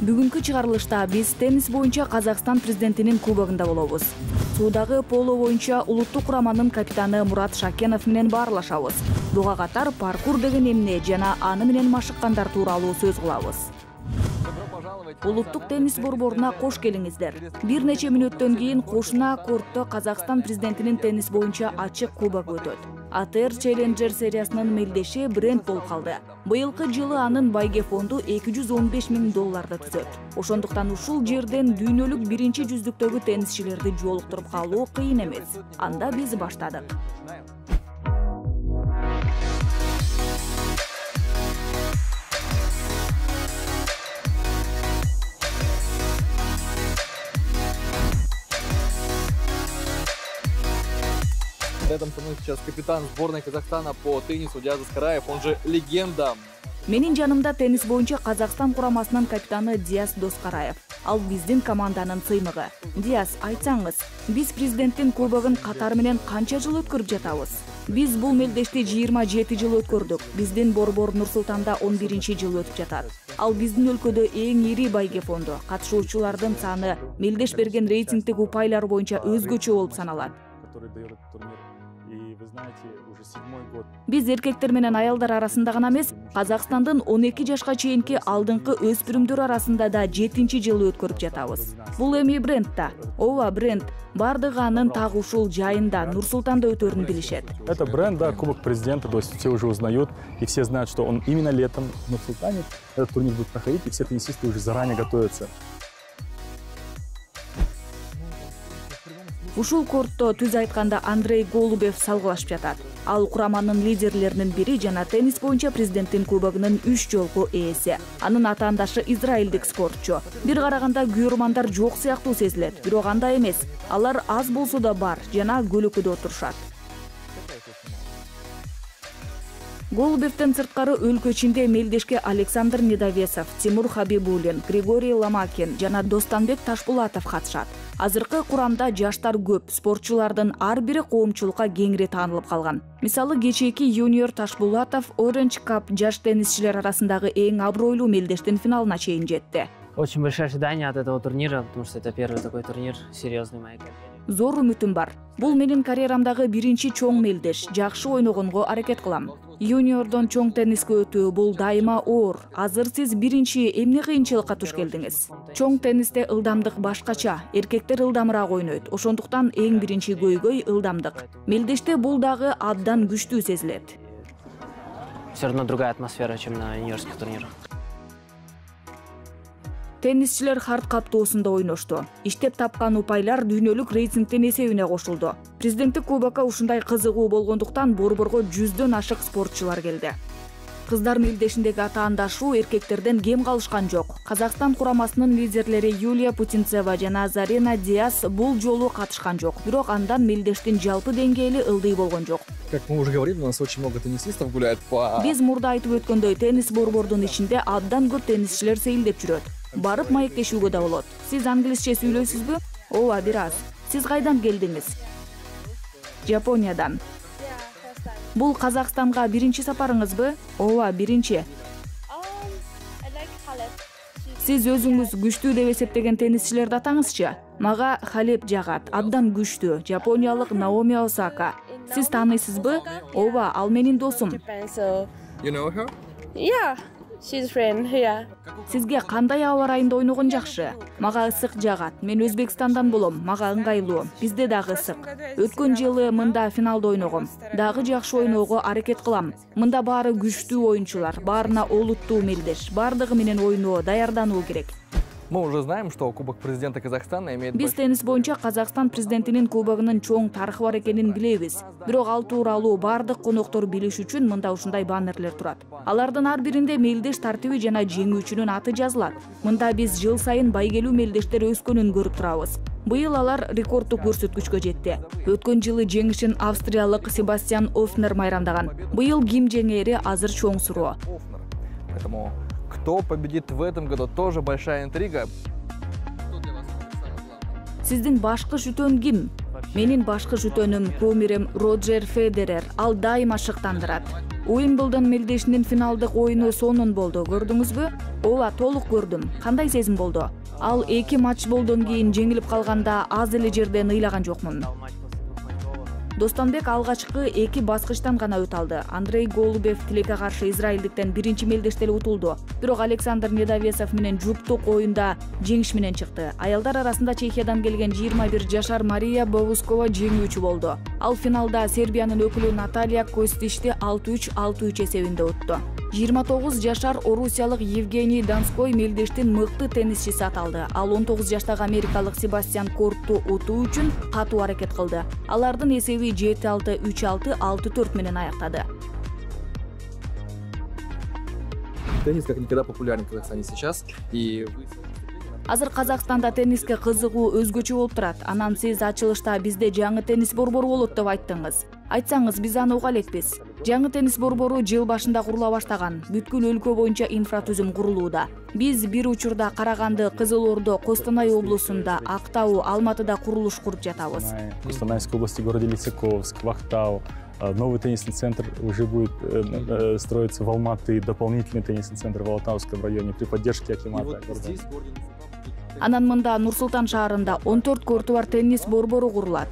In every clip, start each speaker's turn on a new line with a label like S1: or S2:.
S1: Бүгүнкү чыгарылышта биз теннис боюнча Казакстан президентинин кубогунда болобуз. Суудагы поло боюнча улуттук кураманын капитаны Мурат Шакенов менен баарлашабыз. Буга катар паркур деген эмне жана аны менен машыккандар тууралуу сөз кылабыз. Улуттук теннис борборуна кош келиңиздер. Бир нече мүнөттөн кийин кошуна кортто Казакстан президентинин теннис боюнча ачык кубогу өтөт. АТР Challenger сериясынын мелдеши бренд болуп калды. Быйылкы жылы анын байге фонду $215,000 түзөт. Ошондуктан ушул жерден дүйнөлүк биринчи жүздүктөгү теннисчилерди жолуктуруп калуу кыйын эмес. Анда биз баштадык.
S2: Рядом со мной сейчас капитан сборной Казахстана по теннису Диас Доскараев, он же легенда.
S1: Менин жанымда теннис боюнча Казакстан курамасынын капитаны Диас Доскараев. Ал биздин команданын сыймыгы. Диас, айтсаңыз, биз президенттин кубогун катар менен канча жыл өткөрүп жатабыз? Биз бул мелдешти 27 жыл өткөрдүк. Биздин борбор Нур-Султанда 11 жыл өтүп жатат. Ал биздин өлкөдө эң ири байге фонду. Катышуучулардын саны мелдеш берген рейтингдик упайлар боюнча өзгөчө болуп саналат. Биз эркектер менен аялдар арасында гана эмес, Казакстандын 12 жашка чейинки алдыңкы өспүрүмдөр арасында да 7 жылы өткөрүп жатабыз. Бул эми бренд да. Ооба, бренд. Бардыгы анын так ушул жайында Нур-Султанда өтөрүн билишет.
S3: Это бренд, да, Кубок президента, то есть все уже узнают, и все знают, что он именно летом в Нур-Султане этот турнир будет проходить, и все теннисисты уже заранее готовятся.
S1: Ушул кортто түз айтканда Андрей Голубев салгылашып жатат. Ал кураманын лидерлеринин бири жана теннис боюнча президенттин кубогунун 3 жолку ээси. Анын атаандашы израилдик спортчу. Бир караганда күйөрмандар жок сыяктуу сезилет, бирок андай эмес. Алар аз болсо да бар жана көлөкөдө отурушат. Голубевден сырткары өлкө ичинде мелдешке Александр Недовесов, Тимур Хабибуллин, Григорий Ломакин жана Достанбек Ташпулатов катышат. Азыркы курамда жаштар көп, спортчулардын ар бири коомчулукка кеңири таанылып калган. Мисалы, кечээки юниор Ташпулатов Orange Cup жаш теннисчилер арасындагы эң абройлуу мелдештин финалына чейин жетти.
S4: Очень большое ожидание от этого турнира, потому что это первый такой турнир серьезный в моей карьере.
S1: Зор үмүтүм бар. Бул менин карьерамдагы биринчи чоң мелдеш. Жакшы ойногонго аракет кылам. Юниордон чоң тенниске өтүү бул дайыма оор. Азыр сиз биринчи эмне кыйынчылыкка туш келдиңиз? Чоң теннисте ылдамдык башкача, эркектер ылдамыраак ойнойт. Ошондуктан эң биринчи көйгөй ылдамдык. Мелдеште бул дагы абдан күчтүү сезилет.
S4: Все равно другая атмосфера, чем на юниорских турнирах.
S1: Теннисчилер хард каптоосунда ойношту. Иштеп тапкан упайлар дүйнөлүк рейтингдин эсебине кошулду. Президенттик кубокко ушундай кызыгуу болгондуктан борборго 100дөн ашык спортчулар келди. Кыздар мелдешиндеги атаандашуу эркектерден кем калышкан жок. Казакстан курамасынын лидерлери Юлия Путинцева жана Зарина Диас бул жолу катышкан жок. Бирок андан мелдештин жалпы деңгээли ылдый болгон жок.
S2: Как мы уже говорили, у нас очень много теннисистов гуляет по...
S1: Биз мурда айтып өткөндөй, теннис борбордун ичинде абдан көп теннисчилер сейилдеп жүрөт. Барып маектешүүгө да болот. Сиз англисче сүйлөйсүзбү? Ооба, бир аз. Сиз кайдан келдиңиз? Жапониядан. Бул Казакстанга биринчи сапарыңызбы? Ооба, биринчи. Сиз өзүңүз күчтүү деп эсептеген теннисчилерди атаңызчы. Мага Халеп жагат, абдан күчтүү. Жапониялык Наоми Осака. Сиз тааныйсызбы? Ооба, ал менин досум.
S2: You know her?
S5: Yeah. She's friend, yeah.
S1: Сизге кандай аба ырайында ойногон жакшы? Мага ысык жагат. Мен Өзбекстандан болом. Мага ыңгайлуу. Бизде дагы ысык. Өткөн жылы мында финалда ойногом. Дагы жакшы ойноого аракет кылам. Мында баары күчтүү оюнчулар, баарына олуттуу мелдеш. Бардыгы менен ойноо, даярдануу керек.
S2: Мы уже знаем, что Кубок президента Казахстана имеет...
S1: Биз теннис боюнча Казакстан президентинин кубогунун чоң тарыхы бар экенин билебиз. Бирок ал тууралуу бардык коноктор билиш үчүн мында ушундай баннерлер турат. Алардын ар биринде мелдеш тартиби жана жеңүүчүнүн аты жазылат. Мында биз жыл сайын байгелүү мелдештер өскөнүн көрүп турабыз. Быйыл алар рекорддук көрсөткүчкө жетти. Өткөн жылы жеңишин австриялык Себастьян Офнер майрамдаган. Быйыл ким жеңери азыр чоң суроо.
S2: Поэтому кто победит в этом году, тоже большая интрига.
S1: Сиздин башкы шүтөн ким? Менин башкы шүтөнүм кумирим Роджер Федерер. Ал дайыма шыктандырат. Уимблдон мелдешинин финалдык ойуну сонун болду. Көрдүңүзбү? Ооба, толук көрдүм. Кандай сезим болду? Ал 2 матч болдон кийин жеңилип калганда аз эле жерден ыйлаган жокмун. Достонбек алгачкы 2 баскычтан гана өтө алды. Андрей Голубев тилекке каршы израилдиктен биринчи мелдеште эле утулду. Бирок Александр Недовесов менен жуптук оюнда жеңиш менен чыкты. Аялдар арасында Чехиядан келген 21 жашар Мария Бовускова жеңүүчү болду. Ал финалда Сербиянын өкүлү Наталия Костишти 6-3, 6-3 эсебинде утtu. 29 жашар орусиялык Евгений Донской мелдештин мыкты теннисчиси аталды. Ал 19 жаштагы америкалык Себастьян Кортту утуу үчүн катуу аракет кылды. Алардын эсеби 7-6, 3-6, 6-4 менен аяктады.
S2: Теннис как никогда популярен в Казахстане сейчас. И
S1: Азыр Казакстанда тенниске кызыгуу өзгөчө болуп турат. Анан сиз ачылышта бизде жаңы теннис борбору болот деп айттыңыз. Айтсаңыз биз аны уга элекпиз. Жаңы теннис борбору жыл башында курула баштаган. Бүткүл өлкө боюнча инфратүзүм курулууда. Биз бир учурда Караганды, Кызыл Ордо, Костанай облусунда, Актау, Алматыда курулуш куруп жатабыз.
S3: В Костанайской области, в городе Лисаковск, в Актау. Новый теннисный центр уже будет строиться в Алматы, дополнительный теннисный центр в Алтауском районе при поддержке Акимата.
S1: Анан мында Нур-Султан шаарында 14 корту бар теннис борбору курулат.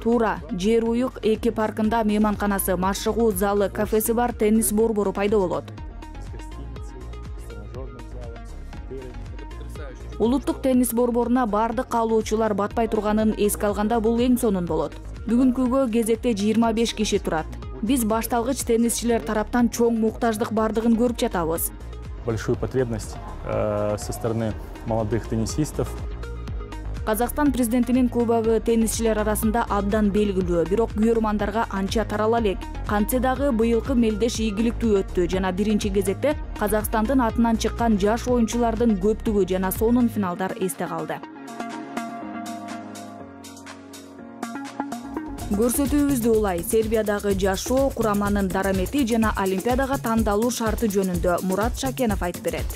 S1: Туура, Жер Уюк эки паркында мейманканасы, машыгуу залы, кафеси бар теннис борбору пайда болот. Улуттук теннис борборуна бардык каалоочулар батпай турганын эске алганда бул эң сонун болот. Бүгүнкүгө кезекте 25 киши турат. Биз башталгыч теннисчилер тараптан чоң муктаждык бардыгын көрүп жатабыз.
S3: Большую потребность со стороны молодых теннисистов.
S1: Казакстан президентинин кубогу теннисчилер арасында абдан белгилүү, бирок күйөрмандарга анча тарала элек. Кантсе дагы быйылкы мелдеш ийгиликтүү өттү жана биринчи кезекте Казакстандын атынан чыккан жаш оюнчулардын көптүгү жана сонун финалдар эсте калды. Көрсөтүүбүздү улай Сербиядагы жашоо, кураманын дарамети жана Олимпиадага тандалуу шарты жөнүндө Мурат Шакенов айтып берет.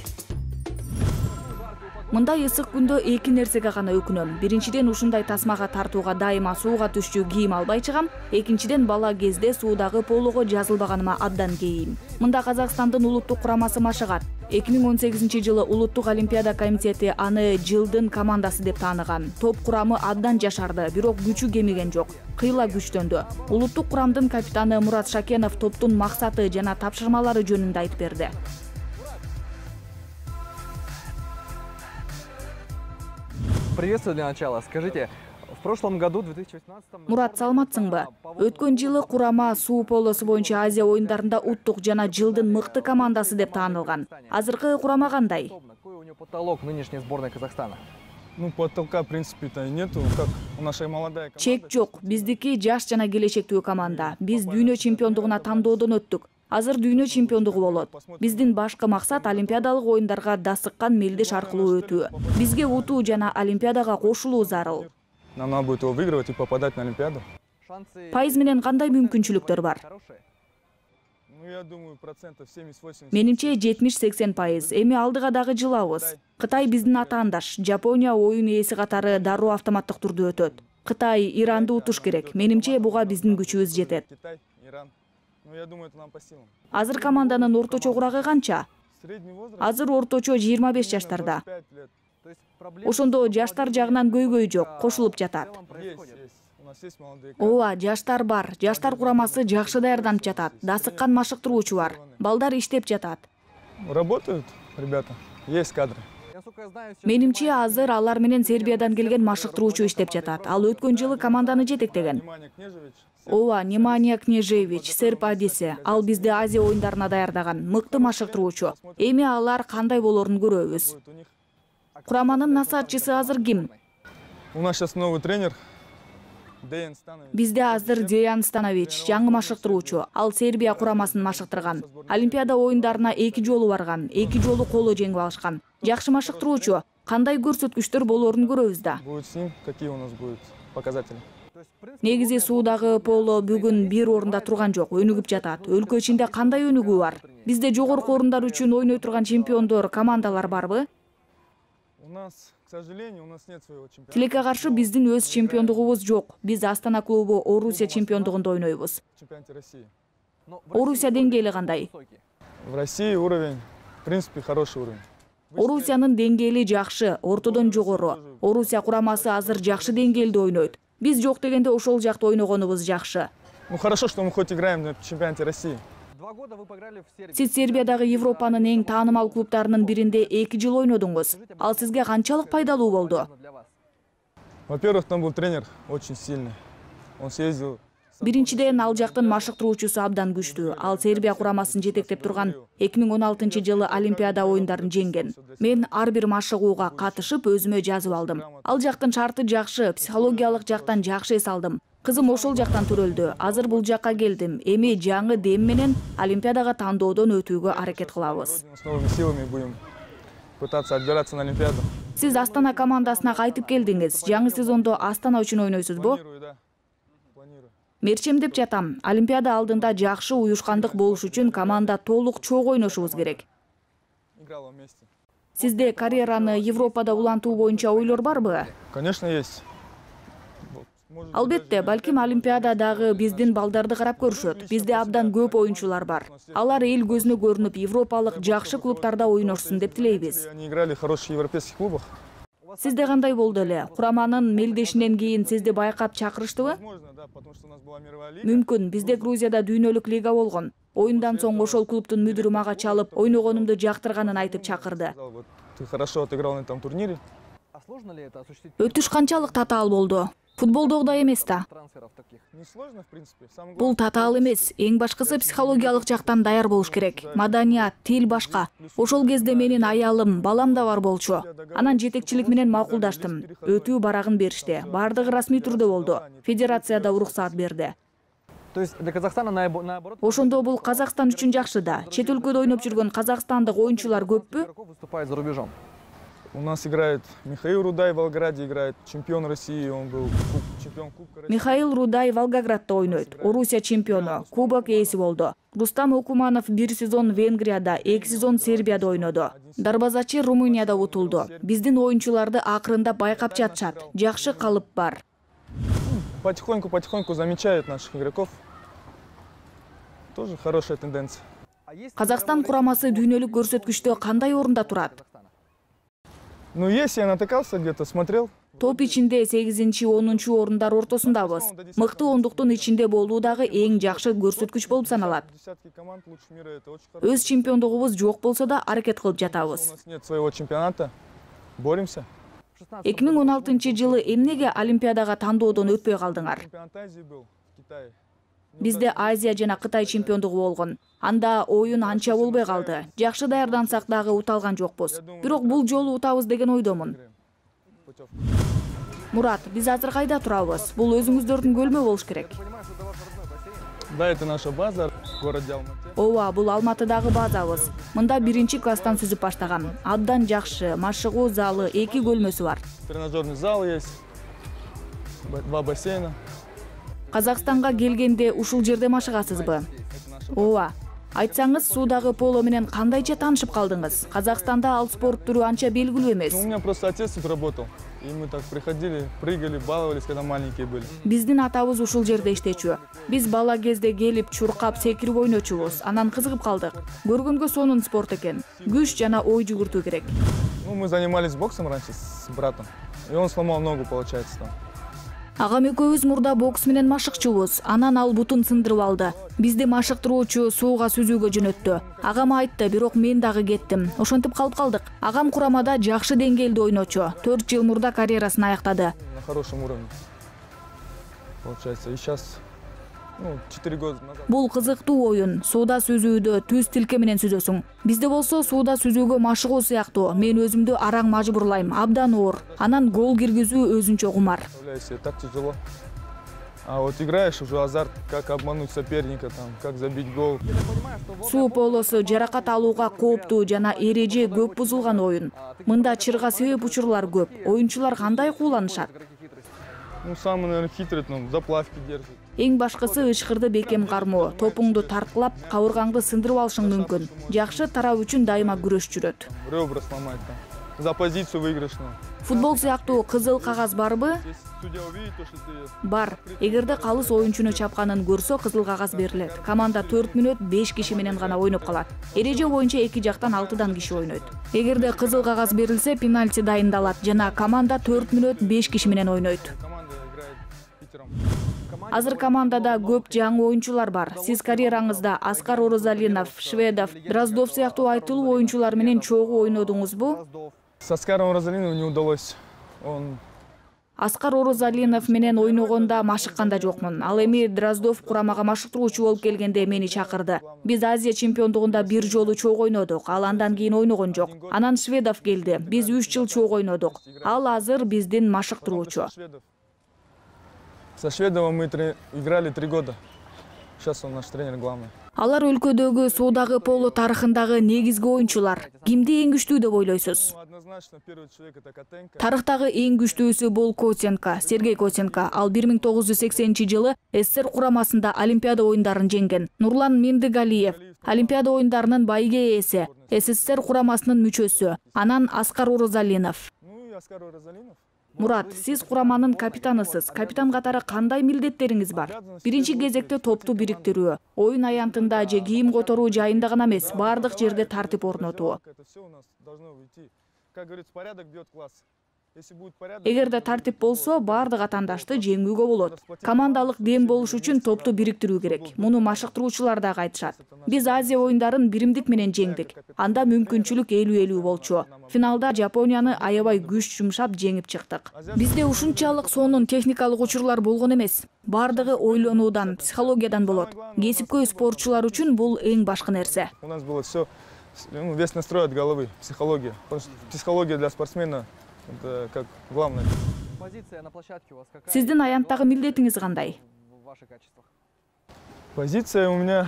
S1: Мындай ысык күндө эки нерсеге гана өкүнөм. Биринчиден ушундай тасмага тартууга дайыма сууга түшчү кийим албай чыгам. Экинчиден бала кезде суудагы полого жазылбаганыма абдан кейим. Мында Казакстандын улуттук курамасы машыгат. 2018-жылы Улуттук Олимпиада комитети аны жылдын командасы деп тааныган. Топ курамы абдан жашарды, бирок күчү кемиген жок. Кыйла күчтөндү. Улуттук курамдын капитаны Мурат Шакенов топтун максаты жана тапшырмалары жөнүндө айтып берди.
S2: приветствую для начала. Скажите, в прошлом году, 2018
S1: Мурат, саламатсыңбы? Өткөн жылы курама суу полосу боюнча Азия оюндарында уттук жана жылдын мыкты командасы деп таанылган. Азыркы курама кандай?
S2: Какой у него потолок нынешней сборной Казахстана?
S6: Ну, потолка, в принципе-то, нету, как у нашей молодая команда.
S1: Чек жок. Биздики жаш жана келечектүү команда. Биз дүйнө чемпиондугуна тандоодон өттүк. Азыр дүйнө чемпиондугу болот. Биздин башкы максат олимпиадалык оюндарга дасыккан мелдеш аркылуу өтүү. Бизге утуу жана олимпиадага кошулуу зарыл.
S6: Нам надо будет его выигрывать и попадать на Олимпиаду.
S1: Пайыз менен кандай мүмкүнчүлүктөр бар?
S6: Ну, я думаю, 70-80%.
S1: Менимче 70-80%. Эми алдыга дагы жылабыз. Кытай биздин атаандаш. Жапония оюн ээси катары дароо автоматтык турдө өтөт. Кытай, Иранды утуш керек. Менимче буга биздин күчүбүз жетет.
S6: Китай, Иран. Ну, я думаю, это нам по силам.
S1: Азыр команданын орточо курагы канча?
S6: Средний возраст?
S1: Азыр орточо 25 жаштарда.
S6: 25 лет.
S1: Ошондо жаштар жагынан көйгөй жок, кошулуп жатат.
S6: Есть. У нас есть молодые.
S1: Ооба, жаштар бар. Жаштар курамасы жакшы даярданып жатат. Дасыккан машыктыруучу бар. Балдар иштеп жатат.
S6: Работают, ребята. Есть кадры.
S1: Менимче азыр алар менен Сербиядан келген машыктыруучу иштеп жатат. Ал өткөн жылы команданы жетектеген.
S6: Внимание, Кнежевич.
S1: Ооба, Немания Кнежевич, серб адиси. Ал бизди Азия оюндарына даярдаган мыкты машыктыруучу. Эми алар кандай болорун көрөбүз.
S6: Будет у них.
S1: Кураманын насаатчысы азыр ким?
S6: У нас сейчас новый тренер. Деян Станович.
S1: Бизде азыр Деян Станович, жаңы машыктыруучу. Ал Сербия курамасын машыктырган. Олимпиада оюндарына 2 жолу барган, 2 жолу коло жеңип алышкан. Жакшы машыктыруучу. Кандай көрсөткүчтөр болорун көрөбүз да.
S6: Будет с ним. Какие у нас будут показатели?
S1: Негизи суудагы поло бүгүн бир орунда турган жок, өнүгүп жатат. Өлкө ичинде кандай өнүгүү бар? Бизде жогорку орундар үчүн ойной турган чемпиондор, командалар барбы?
S6: У нас, к сожалению, у нас нет своего чемпионата.
S1: Тилекке каршы биздин өз чемпиондугубуз жок. Биз Астана клубу Орусия чемпиондугунда ойнойбуз.
S6: В чемпионате России.
S1: Орусия деңгээли кандай?
S6: В России уровень, в принципе, хороший уровень.
S1: Орусиянын деңгээли жакшы, ортодон жогору. Орусия курамасы азыр жакшы деңгээлде ойнойт. Биз жок дегенде ошол жакта ойногонубуз жакшы.
S6: Ну хорошо, что мы хоть играем на чемпионате России.
S2: 2 года вы поиграли в Сербии.
S1: Сиз Сербиядагы Европанын эң таанымал клубтарынын биринде 2 жыл ойнодуңуз. Ал сизге канчалык пайдалуу болду?
S6: Во-первых, там был тренер очень сильный. Он съездил.
S1: Биринчиден ал жактын машыктыруучусу абдан күчтүү. Ал Сербия курамасын жетектеп турган 2016-жылы Олимпиада оюндарын жеңген. Мен ар бир машыгууга катышып өзүмө жазып алдым. Ал жактын шарты жакшы, психологиялык жактан жакшы эс алдым. Кызым ошол жактан төрөлдү. Азыр бул жакка келдим. Эми жаңы дем менен Олимпиадага тандоодон өтүүгө аракет кылабыз.
S6: С новыми силами будем пытаться отбираться на Олимпиаду.
S1: Сиз Астана командасына кайтып келдиңиз. Жаңы сезондо Астана үчүн ойнойсузбу?
S6: Планирую, да. Планирую.
S1: Мерчем деп жатам. Олимпиада алдында жакшы уюшкандык болуш үчүн команда толук чогуу ойношубуз керек.
S6: Играла вместе.
S1: Сизде карьераны Европада улантуу боюнча ойлор барбы?
S6: Конечно, есть. Может,
S1: Албетте, балким Олимпиададагы биздин балдарды карап көрүшөт. Бизде абдан көп оюнчулар бар. Алар эл көзүнө көрүнүп, европалык жакшы клубтарда ойношсун деп тилейбиз.
S6: они играли в хороших европейских клубах.
S1: Сизде кандай болду эле? Кураманын мелдешинен кийин сизди байкап чакырыштыбы?
S6: Возможно, да, потому что у нас была мировая лига.
S1: Мүмкүн, бизде Грузияда дүйнөлүк лига болгон. Оюндан соң ошол клубтун мүдүрү мага чалып, ойногонумду жактырганын айтып чакырды.
S6: Сказал, вот, ты хорошо отыграл на этом турнире.
S2: А сложно ли это осуществить
S1: Өтүш канчалык татаал болду? Футболдогудай эмес да.
S2: трансферов таких?
S6: Несложно, в принципе. Самое
S1: Бул татаал эмес. Эң башкысы психологиялык жактан даяр болуш керек. Маданият, тил башка. Ошол кезде менин аялым, балам да бар болчу. Анан жетекчилик менен макулдаштым. Өтүү барагын беришти. Бардыгы расмий түрдө болду. Федерация да уруксаат берди.
S2: То есть для Казахстана наоборот...
S1: Ошондо бул Казакстан үчүн жакшы да. Чет өлкөдө ойноп жүргөн казакстандык оюнчулар көппү?
S2: игроков выступает за рубежом.
S6: У нас играет Михаил Рудай в Волгограде, играет чемпион России, он был чемпион Кубка России.
S1: Михаил Рудай Волгоградда ойнойт. Орусия чемпиону, кубок ээси болду. Рустам Окуманов 1 сезон Венгрияда, 2 сезон Сербияда ойноду. Дарбазачы Румынияда утулду. Биздин оюнчуларды акырында байкап жатышат. Жакшы калып бар.
S6: Потихоньку замечают наших игроков. Тоже хорошая тенденция.
S2: А есть
S1: Казакстан курамасы дүйнөлүк көрсөткүчтө кандай орунда турат?
S6: Ну, если я натыкался где-то, смотрел.
S1: Топ ичинде 8-10 орундар ортосундабыз. Мыкты ондуктун ичинде болуу дагы эң жакшы көрсөткүч болуп саналат.
S6: Десятки команд лучше мира, это очень хорошо.
S1: Өз чемпиондугубуз жок болсо да аракет кылып
S6: У
S1: жатабыз.
S6: нас нет своего чемпионата. Боремся.
S1: 2016-жылы эмнеге Олимпиадага тандоодон өтпөй калдыңар?
S6: Чемпионат Азии был в Китае.
S1: Бизде Азия жана Кытай чемпиондугу болгон. Анда оюн анча болбой калды. Жакшы даярдансак дагы уталган жокпуз. Бирок бул жолу утабыз деген ойдомун.
S6: Путевка.
S1: Мурат, биз азыр кайда турабыз? Бул өзүңүздөрдүн көлмө болуш керек.
S6: Да, это наша база в городе Алматы.
S1: Ооба, бул Алматыдагы базабыз. Мында 1-класстан сүзүп баштагам. Абдан жакшы, машыгуу залы, 2 көлмөсү бар.
S6: Тренажерный зал есть, 2 бассейна.
S1: Казакстанга келгенде ушул жерде машыгасызбы?
S6: Это наша
S1: Ооба. Айтсаңыз, суудагы поло менен кандайча таанышып калдыңыз? Казакстанда ал спорт түрү анча белгилүү эмес.
S6: Ну, у меня просто отец тут работал. И мы так приходили, прыгали, баловались, когда маленькие были.
S1: Биздин атабыз ушул жерде иштечү. Биз бала кезде келип, чуркап, секирип ойночубуз. Анан кызыгып калдык. Көргөнгө сонун спорт экен. Күч жана ой жүгүртүү керек.
S6: Ну, мы занимались боксом раньше с братом. И он сломал ногу, получается, там.
S1: Агам экөөбүз мурда бокс менен машыкчубуз. Анан ал бутун сындырып алды. Бизди машыктыруучу сууга сүзүүгө жөнөттү. Агам айтты, бирок мен дагы кеттим. Ошентип калып калдык. Агам курамада жакшы деңгээлде ойночу. 4 жыл мурда карьерасын аяктады.
S6: На хорошем уровне. Получается, и сейчас, 4 года назад.
S1: Бул кызыктуу оюн. Сууда сүзүүдө түз тилке менен сүзөсүң. Бизде болсо сууда сүзүүгө машыгуу сыяктуу. Мен өзүмдү араң мажбурлайм, абдан оор. Анан гол киргизүү өзүнчө кумар.
S6: Представляю себе, так тяжело. А вот играешь уже азарт, как обмануть соперника, там, как забить гол.
S1: Суу полосу жаракат алууга кооптуу жана эреже көп бузулган оюн. Мында чырга себеп учурлар көп. Оюнчулар кандай кууланышат?
S6: Ну, самый, наверное, хитрый, заплавки держит.
S1: Эң башкысы ычкырды бекем кармоо. Топуңду тарткылап, кабыргаңды сындырып алышың мүмкүн. Жакшы тарап үчүн дайыма күрөш жүрөт.
S6: Ребра сломать там. за позицию выигрышную.
S1: Футбол сыяктуу кызыл кагаз барбы?
S6: Если судья увидит то, что ты...
S1: Бар. Эгерде калыс оюнчуну чапканын көрсө, кызыл кагаз берилет. Команда 4 мүнөт 5 киши менен гана ойноп калат. Эреже боюнча эки жактан 6 киши ойнойт. Эгерде кызыл кагаз берилсе, пенальти дайындалат жана команда 4 мүнөт 5 киши менен ойнойт.
S6: Команда играет пятером.
S1: Азыр командада көп жаңы оюнчулар бар. Сиз карьераңызда Аскар Оразалинов, Шведов, Дроздов сыяктуу айтылуу оюнчулар менен чогуу ойнодуңузбу?
S6: С Оскаром Розалиновым не удалось. Он
S1: Аскар Оразалинов менен ойногонда машыкканда жокмун. Ал эми Дроздов курамага машыктыруучу болуп келгенде мени чакырды. Биз Азия чемпиондугунда бир жолу чогуу ойнодук. Ал андан кийин ойногон жок. Анан Шведов келди. Биз 3 жыл чогуу ойнодук. Ал азыр биздин машыктыруучу.
S6: Со Шведовым мы играли 3 года. Сейчас он наш тренер главный.
S1: Алар өлкөдөгү суудагы поло тарыхындагы негизги оюнчулар. Кимди эң күчтүү деп ойлойсуз?
S6: Однозначно первый человек это Котенко.
S1: Тарыхтагы эң күчтүүсү бул Котенко, Сергей Котенко. Ал 1980-жылы СССР курамасында Олимпиада оюндарын жеңген. Нурлан Мендигалиев Олимпиада оюндарынын байге ээси, СССР курамасынын мүчөсү. Анан Аскар Оразалинов.
S6: Ну и Оскар Розалинов.
S1: Мурат, сиз кураманын капитанысыз. Капитан катары кандай милдеттериңиз бар? Биринчи кезекте топту бириктирүү, оюн аянтында же кийим которуу жайында гана эмес, бардык жерде тартип орнотуу.
S6: Это все у нас должно уйти. Как говорится, порядок бьет класс. Если будет порядок...
S1: Эгерде тартип болсо, бардык атандашты жеңүүгө болот. Командалык дем болуш үчүн топту бириктирүү керек. Муну машыктыруучулар да айтышат. Биз Азия оюндарын биримдик менен жеңдик. Анда мүмкүнчүлүк 50-50 болчу. Финалда Жапонияны аябай күч жумшап жеңип чыктык. Бизде ушунчалык сонун техникалык учурлар болгон эмес. Бардыгы ойлонуудан, психологиядан болот. Кесипкөй спортчулар үчүн бул эң башкы нерсе.
S6: У нас было все, весь настрой от головы, психология. Потому что психология для спортсмена это как главное.
S2: Позиция на площадке у вас какая?
S1: Сиздин аянттагы милдетиңиз кандай?
S2: В ваших качествах.
S6: Позиция у меня,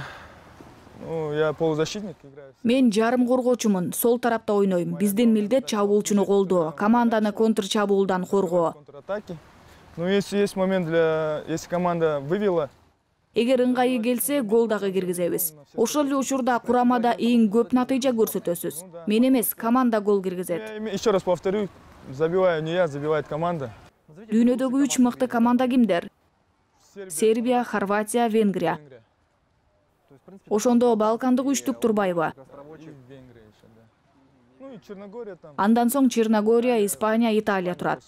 S6: ну, я полузащитник играю.
S1: Мен жарым коргоочумун, сол тарапта ойнойм. Биздин милдет чабуулчуну колдоо, команданы контр чабуулдан коргоо.
S6: Контратаки. Ну, если есть момент если команда вывела.
S1: Эгер ыңгайы келсе, гол дагы киргизебиз. Ошол эле учурда курамада эң көп натыйжа көрсөтөсүз. Мен эмес, команда гол киргизет.
S6: Я еще раз повторю, забиваю не я, забивает команда.
S1: Дүйнөдөгү 3 мыкты команда кимдер? Сербия, Хорватия, Венгрия. Ошондо Балкандык үчтүк турбайбы?
S6: Венгрия еще, да. Ну и Черногория там.
S1: Андан соң Черногория, Испания, Италия турат.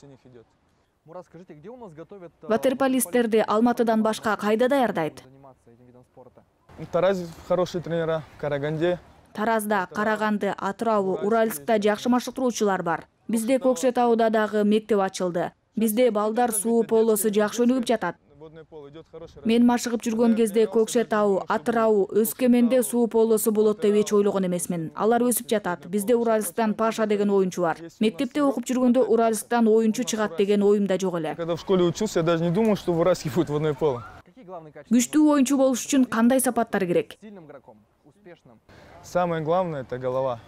S2: Мурат, скажите, где у нас готовят
S1: Ватерполисттерди Алматыдан башка кайда даярдайт?
S2: заниматься этим видом спорта?
S6: Тараз хорошие тренера, Караганде.
S1: Таразда, Караганды, Атырау, Уральскта жакшы машыктыруучулар бар. Бизде Кокшетауда дагы мектеп ачылды. Бизде балдар суу полосу жакшы өнүгүп жатат.
S6: Водное поло идет хороший.
S1: Мен машыгып жүргөн кезде Кокшетау, Атырау, Өскөменде суу полосу болот деп эч ойлогон эмесмин. Алар өсүп жатат. Бизде Уральсктан Паша деген оюнчу бар. Мектепте окуп жүргөндө Уральсктан оюнчу чыгат деген оюмда жок эле.
S6: Когда в школе учился, я даже не думал, что в Уральске будет водное поло.
S2: Какие главные качества?
S1: Күчтүү оюнчу болуш үчүн кандай сапаттар керек?
S2: Сильным игроком, успешным.
S6: Самое главное это голова.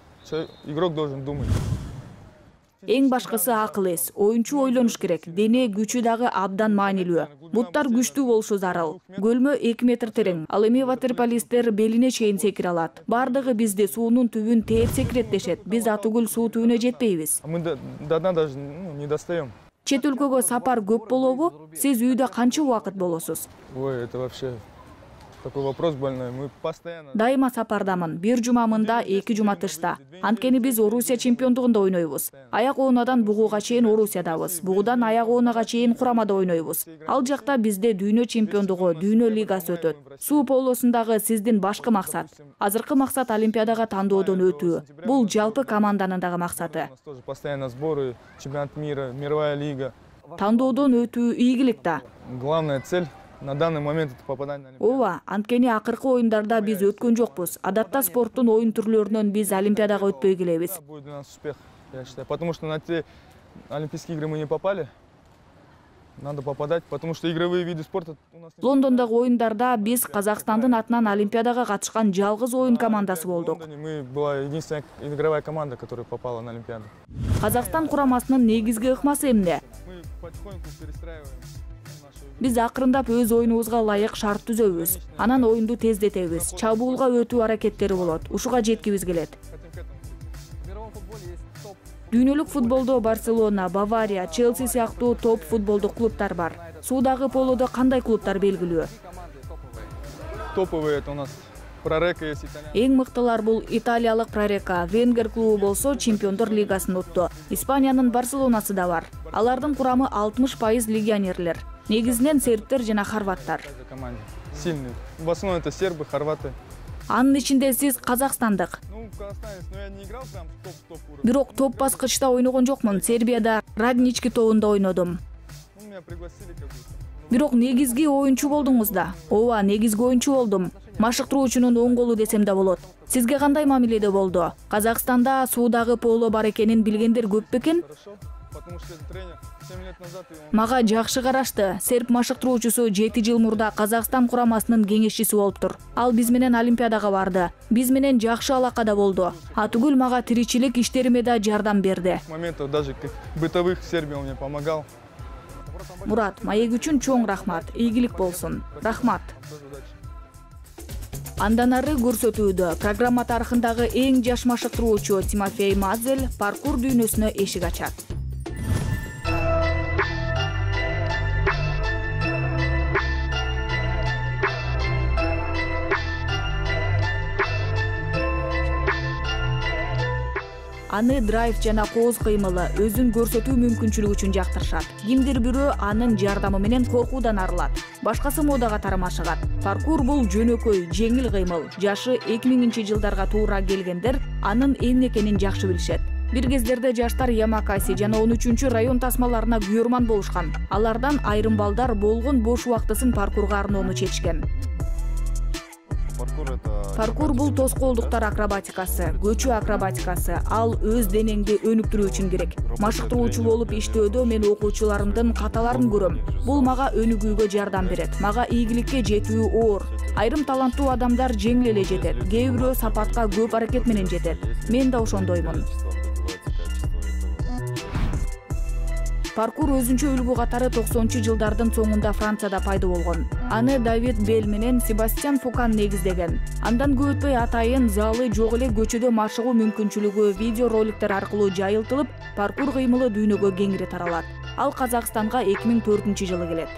S6: Игрок должен думать.
S1: Эң башкысы акыл эс. Оюнчу ойлонуш керек. Дене күчү дагы абдан маанилүү. Буттар күчтүү болушу зарыл. Көлмө 2 метр терең. Ал эми ватерполисттер белине чейин секире алат. Бардыгы бизде суунун түбүн тээп секирет дешет. Биз атүгүл суу түбүнө жетпейбиз.
S6: А мы до дна даже не достаем.
S1: Чет өлкөгө сапар көп болобу? Сиз үйдө канча убакыт болосуз?
S6: Ой, это вообще такой вопрос больной. Мы постоянно...
S1: Дайыма сапардамын. Бир жума мында, 2 жума тышта. Анткени биз Орусия чемпиондугунда ойнойбуз. Аяк оонадан бугуга чейин Орусиядабыз. Бугудан аяк оонага чейин курамада ойнойбуз. Ал жакта бизде дүйнө чемпиондугу, дүйнө лигасы өтөт. Суу полосундагы сиздин башкы максат. Азыркы максат Олимпиадага тандоодон өтүү. Бул жалпы команданын дагы максаты.
S6: У нас тоже постоянно сборы, чемпионат мира, мировая лига.
S1: Тандоодон өтүү ийгилик да.
S6: Главная цель на данный момент это попадание на Олимпиаду.
S1: Ооба, анткени акыркы оюндарда биз өткөн жокпуз. Адатта спорттун оюн түрлөрүнөн биз Олимпиадага өтпөй келебиз.
S6: Будет у нас успех, я считаю. Потому что на те Олимпийские игры мы не попали. Надо попадать, потому что игровые виды спорта у нас...
S1: Лондондогу оюндарда биз Казакстандын атынан Олимпиадага катышкан жалгыз оюн командасы болдук.
S6: Мы была единственная игровая команда, которая попала на Олимпиаду.
S1: Казакстан курамасынын негизги ыкмасы эмне?
S6: Мы потихоньку перестраиваем нашу...
S1: Биз акырындап өз оюнубузга ылайык шарт түзөбүз. Анан оюнду тездетебиз. Чабуулга өтүү аракеттери болот. Ушуга жеткибиз келет.
S2: В мировом футболе есть топ
S1: Дүйнөлүк футболдо Барселона, Бавария, Челси сыяктуу топ футболдук клубтар бар. Суудагы полодо кандай клубтар белгилүү?
S6: Топовые это у нас Прорека есть, итальян.
S1: Эң мыктылар бул италиялык Прорека, Венгер клубу болсо Чемпиондор лигасын утту. Испаниянын Барселонасы да бар. Алардын курамы 60% легионерлер. Негизинен сербтер жана хорваттар.
S6: Команда сильный. В основном это сербы, хорваты.
S1: Анын ичинде сиз казакстандык.
S6: Ну, казахстанец, но я не играл прям топ уровень.
S1: Бирок топ баскычта ойногон жокмун. Сербияда Раднички тобунда ойнодум.
S6: Ну, меня пригласили как будто.
S1: Бирок негизги оюнчу болдуңуз да. Ооба, негизги оюнчу болдум. Машыктыруучунун оң колу десем да болот. Сизге кандай мамиледе болду? Казакстанда суудагы поло бар экенин билгендер көп бекен?
S6: Хорошо, потому что тренер 7 лет назад
S1: Мага жакшы карашты. Серб машыктыруучусу 7 жыл мурда Казакстан курамасынын кеңешчиси болуптур. Ал биз менен Олимпиадага барды. Биз менен жакшы алакада болду. Атүгүл мага тиричилик иштериме да жардам берди.
S6: моментов даже бытовых в Сербии он мне помогал.
S1: Мурат, маек үчүн чоң рахмат. Ийгилик болсун. Рахмат. Андан ары көрсөтүүдө программа тарыхындагы эң жаш машыктыруучу Тимофей Мазель паркур дүйнөсүнө эшик ачат. Аны драйв жана кооз кыймылы өзүн көрсөтүү мүмкүнчүлүгү үчүн жактырышат. Кимдир бирөө анын жардамы менен коркуудан арылат. Башкасы модага тарамашыгат. Паркур бул жөнөкөй, жеңил кыймыл. Жашы 2000-жылдарга туура келгендер анын эмне экенин жакшы билишет. Бир кездерде жаштар Ямакаси жана 13-чү район тасмаларына күйөрман болушкан. Алардан айрым балдар болгон бош убактысын паркурга арноону чечкен. Паркур бул тоскоолдуктар акробатикасы, көчүү акробатикасы. Ал өз денеңди өнүктүрүү үчүн керек. Машыктыруучу болуп иштөөдө мен окуучуларымдын каталарын көрөм. Бул мага өнүгүүгө жардам берет. Мага ийгиликке жетүү оор. Айрым таланттуу адамдар жеңил эле жетет. Кээ бирөө сапатка көп аракет менен жетет. Мен да ошондоймун. Паркур өзүнчө үлгү катары 90-жылдардын соңунда Францияда пайда болгон. Аны Давид Бель менен Себастьян Фукан негиздеген. Андан көп өтпөй атайын залы жок эле көчөдө машыгуу мүмкүнчүлүгү видео роликтер аркылуу жайылтылып, паркур кыймылы дүйнөгө кеңири таралат. Ал Казакстанга 2004-жылы келет.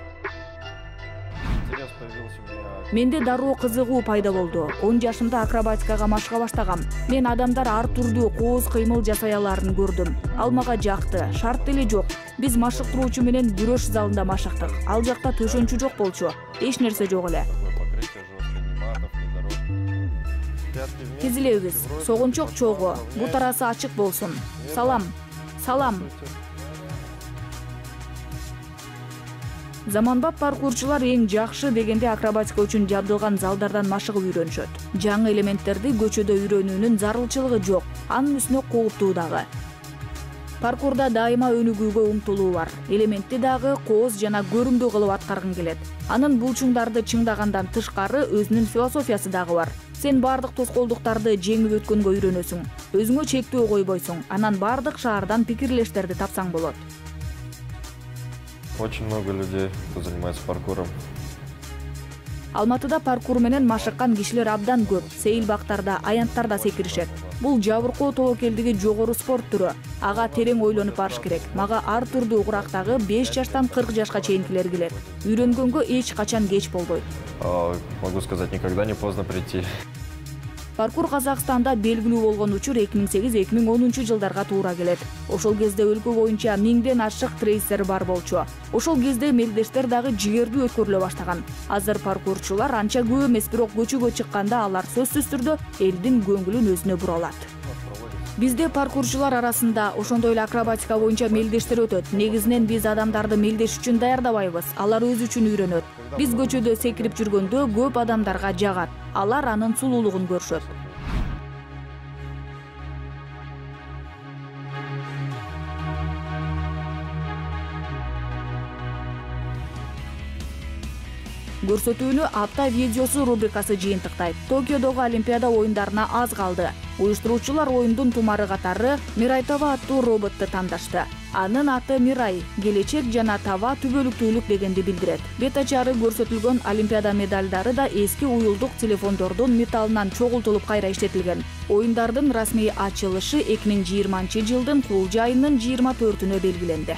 S1: Менде дароо кызыгуу пайда болду. 10 жашымда акробатикага машыга баштагам. Мен адамдар ар түрдүү кооз кыймыл жасай аларын көрдүм. Ал мага жакты. Шарт деле жок. Биз машыктыруучу менен күрөш залында машыктык. Ал жакта төшөнчү жок болчу. Эч нерсе жок эле. Тизилебиз. Согунчок чогуу. Бут арасы ачык болсун. Салам. Салам. Заманбап паркурчулар эң жакшы дегенде акробатика үчүн жабдылган залдардан машыгып үйрөнүшөт. Жаңы элементтерди көчөдө үйрөнүүнүн зарылчылыгы жок. Анын үстүнө кооптуу дагы. Паркурда дайыма өнүгүүгө умтулуу бар. Элементти дагы кооз жана көрүмдүү кылып аткаргың келет. Анын булчуңдарды чыңдагандан тышкары өзүнүн философиясы дагы бар. Сен бардык тоскоолдуктарды жеңип өткөнгө үйрөнөсүң. Өзүңө чектөө койбойсуң. Анан бардык шаардан пикирлештерди тапсаң болот.
S7: Очень много людей, кто занимается паркуром.
S1: Алматыда паркур менен машыккан кишилер абдан көп. Сейил бактарда, аянттарда секиришет. Бул жабыркоо тобокелдиги жогору спорт түрү. Ага терең ойлонуп барыш керек. Мага ар түрдүү курактагы 5 жаштан 40 жашка чейинкилер келет. Үйрөнгөнгө эч качан кеч болбойт.
S7: Могу сказать, никогда не поздно прийти.
S1: Паркур Казакстанда белгилүү болгон учур 2008-2010 жылдарга туура келет. Ошол кезде өлкө боюнча 1000ден ашык трейсер бар болчу. Ошол кезде мелдештер дагы жигердүү өткөрүлө баштаган. Азыр паркурчулар анча көп эмес, бирок көчөгө чыкканда алар сөзсүз түрдө элдин көңүлүн өзүнө бура алат. Бизде паркурчулар арасында ошондой эле акробатика боюнча мелдештер өтөт. Негизинен биз адамдарды мелдеш үчүн даярдабайбыз. Алар өзү үчүн үйрөнөт. Биз көчөдө секирип жүргөндө көп адамдарга жагат. Алар анын сулуулугун көрүшөт. Көрсөтүүнү апта видеосу рубрикасы жыйынтыктайт. Токиодогу Олимпиада оюндарына аз калды. Уюштуруучулар оюндун тумары катары Мирайтова аттуу роботту тандашты. Анын аты Мирай, келечек жана таба түбөлүктүүлүк дегенди билдирет. Бет ачары көрсөтүлгөн Олимпиада медалдары да эски уюлдук телефондордун металлынан чогултулуп кайра иштетилген. Оюндардын расмий ачылышы 2020 жылдын кулж айынын 24-үнө белгиленди.